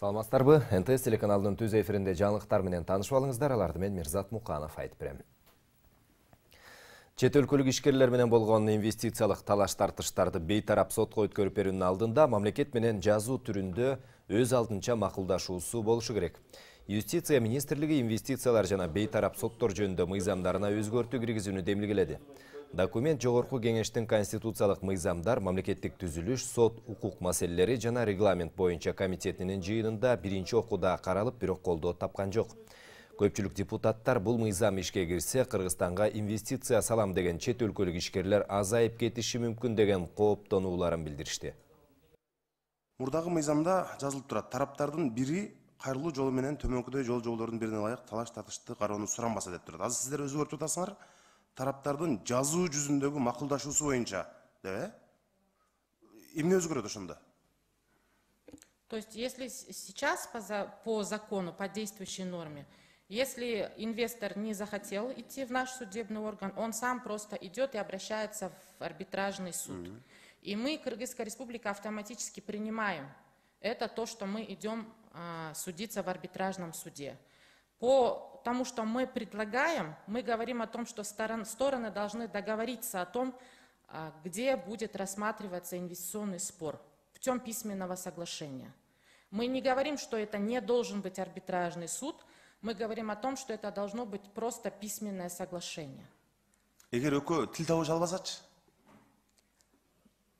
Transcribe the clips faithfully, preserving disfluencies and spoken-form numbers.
Саламатсыздарбы? эн тэ эс телеканалынын түз эфиринде жаңылыктар менен таанышып алыңыздар. Аларды мен Мирзат Муканов айтып берем. Чет өлкөлүк ишкерлер менен болгон инвестициялык талаш-тартыштарды бейтарап сотко өткөрүп берүүнүн алдында мамлекет менен жазуу түрүндө өз алдынча макулдашуусу болушу керек. Юстиция министрлиги инвестициялар жана бейтарап соттор жөнүндө мыйзамдарына өзгөртүү киргизүүнү демилгеледи. Документ Жогорку кеңештин конституциялык мыйзамдар, мамлекеттик түзүлүш, сот укук маселелери жана регламент боюнча комитетинин жыйынында биринчи окууда каралып, бирок колдоо тапкан жок. Көпчүлүк депутаттар бул мыйзам ишке кирсе, Кыргызстанга инвестиция салам деген чет өлкөлүк ишкерлер азайып кетиши мүмкүн деген кооптонууларын билдиришти. Мурдагы мыйзамда жазылып турат: тараптардын бири кайрылуу жолу менен төмөнкүдөй жол жоолордун бирине ылайык талаш-тартышты кароону суранбаса деп турат. Азыр сиздер өзгөртүп атасыңар. Тараптардын жазуу жүзүндөгү макулдашуусу боюнча деп, э? Эмне өзгөрөт ошондо? То есть, если сейчас по, за, по закону, по действующей норме, если инвестор не захотел идти в наш судебный орган, он сам просто идет и обращается в арбитражный суд. Mm-hmm. И мы, Кыргызская республика, автоматически принимаем это то, что мы идем а, судиться в арбитражном суде. По тому, что мы предлагаем, мы говорим о том, что сторон, стороны должны договориться о том, а, где будет рассматриваться инвестиционный спор, путем письменного соглашения. Мы не говорим, что это не должен быть арбитражный суд, мы говорим о том, что это должно быть просто письменное соглашение. Эгер экөө тил табыш албасачы?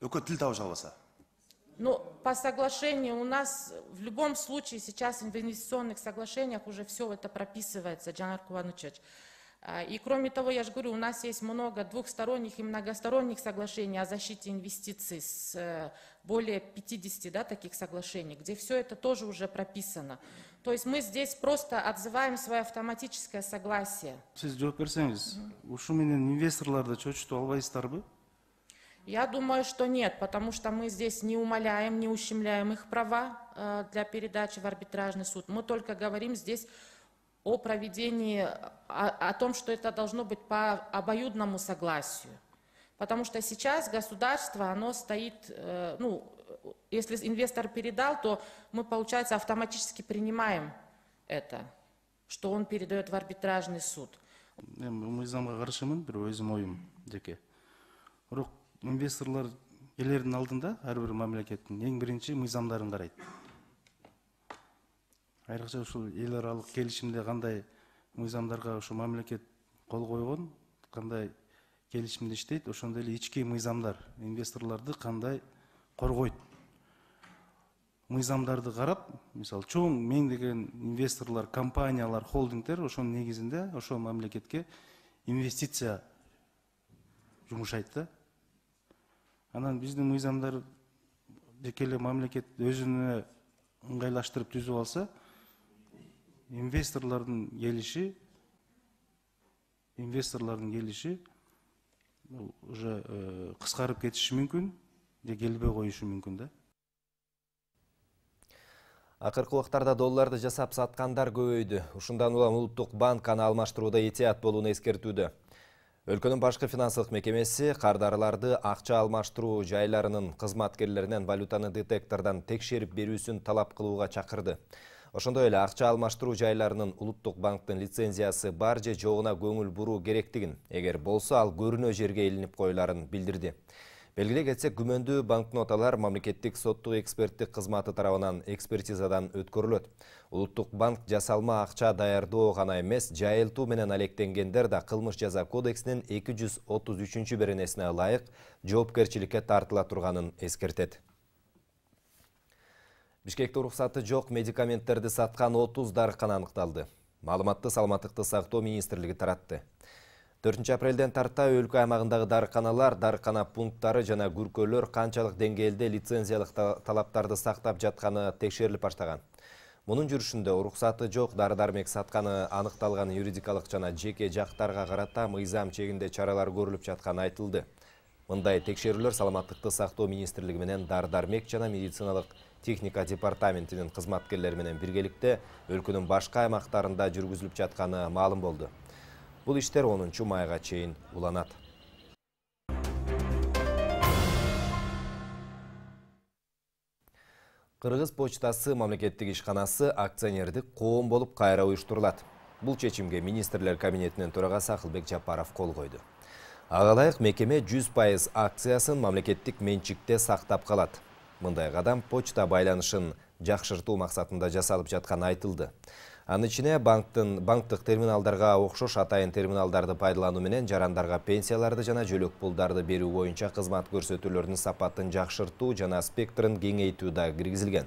Экөө тил табыш албаса? Ну, по соглашению у нас в любом случае сейчас в инвестиционных соглашениях уже все это прописывается, Джанар Куванычевич. И кроме того, я же говорю, у нас есть много двухсторонних и многосторонних соглашений о защите инвестиций, с более пятидесяти, да, таких соглашений, где все это тоже уже прописано. То есть мы здесь просто отзываем свое автоматическое согласие. Сиз жооп берсеңиз, ушу менен инвесторлорду чочутуп албайсыздарбы? Я думаю, что нет, потому что мы здесь не умаляем, не ущемляем их права э, для передачи в арбитражный суд. Мы только говорим здесь о проведении, о, о том, что это должно быть по обоюдному согласию. Потому что сейчас государство, оно стоит, э, ну, если инвестор передал, то мы, получается, автоматически принимаем это, что он передает в арбитражный суд. Мыйзамга каршымын, бир өзүм оюм жеке. Бирок инвесторлор элердин алдында ар бир мамлекеттин эң биринчи мыйзамдарын карайт. Айрыкча ушул эл аралык келишимде кандай мыйзамдарга ушу мамлекет кол койгон, кандай келишимде иштейт, ошондой эле ички мыйзамдар инвесторлорду кандай коргойт. Мыйзамдарды карап, мисалы, чоң меңдеген инвесторлор, компаниялар, холдингдер ошонун негизинде ошол мамлекетке инвестиция жумушайт да. Анан биздин мыйзамдар жеке эле мамлекет өзүнө ыңгайлаштырып түзүп алса, инвесторлордун келиши, инвесторлордун келиши уже кыскарып кетиши мүмкүн, же келбей коюшу мүмкүн да. Акыркы убактарда долларды жасап саткандар көбөйдү. Ушундан улам Улуттук банк аны алмаштырууда этият болууну эскертүүдө. Өлкөнүн башкы финансылык мекемеси кардарларды акча алмаштыруу жайларынын кызматкерлеринен валютаны детектордон текшерип берүүсүн талап кылууга чакырды. Ошондой эле акча алмаштыруу жайларынын Улуттук банктын лицензиясы бар же жогуна көңүл буруу керектигин, эгер болсо ал көрүнө жерге илинип коюларын билдирди. Белгилей кетсек, күмөндүү банкноталар мамлекеттик соттук эксперттик кызматы тарабынан экспертизадан өткөрүлөт. Улуттук банк жасалма акча даярдоо гана эмес, жайылтуу менен алектенгендер да кылмыш жаза кодексинин эки жүз отуз үчүнчү беренесине ылайык жоопкерчиликке тартыла турганын эскертет. Бишкекте уруксаты жок медикаменттерди саткан отуз дарыкана аныкталды. Маалыматты Саламаттыкты сактоо министрлиги таратты. төртүнчү апрелден тарта өлкө аймагындагы дарыканалар, дарыкана пункттары жана күркөлөр канчалык деңгээлде лицензиялык талаптарды сактап жатканы текшерилип баштаган. Мунун жүрүшүндө уруксаты жок дары-дармек сатканы аныкталган юридикалык жана жеке жактарга карата мыйзам чегинде чаралар көрүлүп жатканы айтылды. Мындай текшерүүлөр Саламаттыкты сактоо министрлиги менен дары-дармек жана медициналык техника департаментинин кызматкерлери менен биргеликте өлкөнүн башка аймактарында жүргүзүлүп жатканы маалым болду. Бул иштер онунчу майга чейин уланат. Кыргыз почтасы мамлекеттик ишканасы акционердик коом болуп кайра уюштурулат. Бул чечимге министрлер кабинетинин төрагасы Акылбек Жапаров кол койду. Ага ылайык мекеме жүз пайыз акциясын мамлекеттик менчикте сактап калат. Мындай кадам почта байланышын жакшыртуу максатында жасалып жатканы айтылды. Анын ичине банктын банктык терминалдарга окшош атайын терминалдарды пайдалануу менен жарандарга пенсияларды жана жөлөк пулдарды берүү боюнча кызмат көрсөтүүлөрдүн сапатын жакшыртуу жана спектрин кеңейтүү да киргизилген.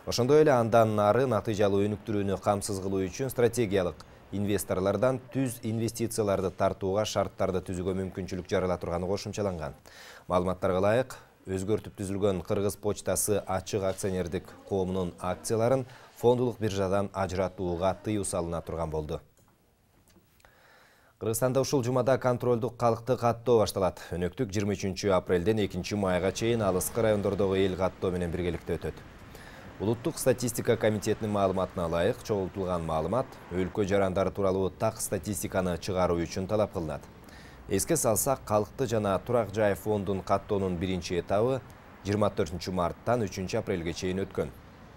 Ошондой эле андан ары натыйжалуу өнүктүрүүнү камсыз кылуу үчүн стратегиялык инвесторлордон түз инвестицияларды тартууга шарттарды түзүүгө мүмкүнчүлүк жарала турганы кошумчаланган. Маалыматтарга ылайык, өзгөртүп түзүлгөн Кыргыз почтасы ачык акционердик коомунун акцияларын фондулук биржадан ажыратууга тыюу салына турган болду. Кыргызстанда ушул жумада контролдук калктык каттоо башталат. Өнөктүк жыйырма үчүнчү апрелден экинчи майга чейин алыскы райондордогу эл каттоо менен биргеликте өтөт. Улуттук статистика комитетинин маалыматына ылайык, чогултулган маалымат өлкө жарандары тууралуу так статистиканы чыгаруу үчүн талап кылынат. Эске салсак, калкты жана турак жай фондун каттоонун биринчи этабы жыйырма төртүнчү марттан үчүнчү апрелге чейин өткөн.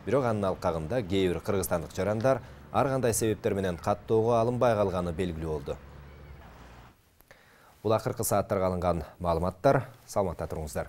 Бирок анын алкагында кээ бир кыргызстандык жарандар ар кандай себептер менен каттоого алынбай калганы белгилүү болду. Бул акыркы сааттарга алынган маалыматтар. Саламатта туруңуздар.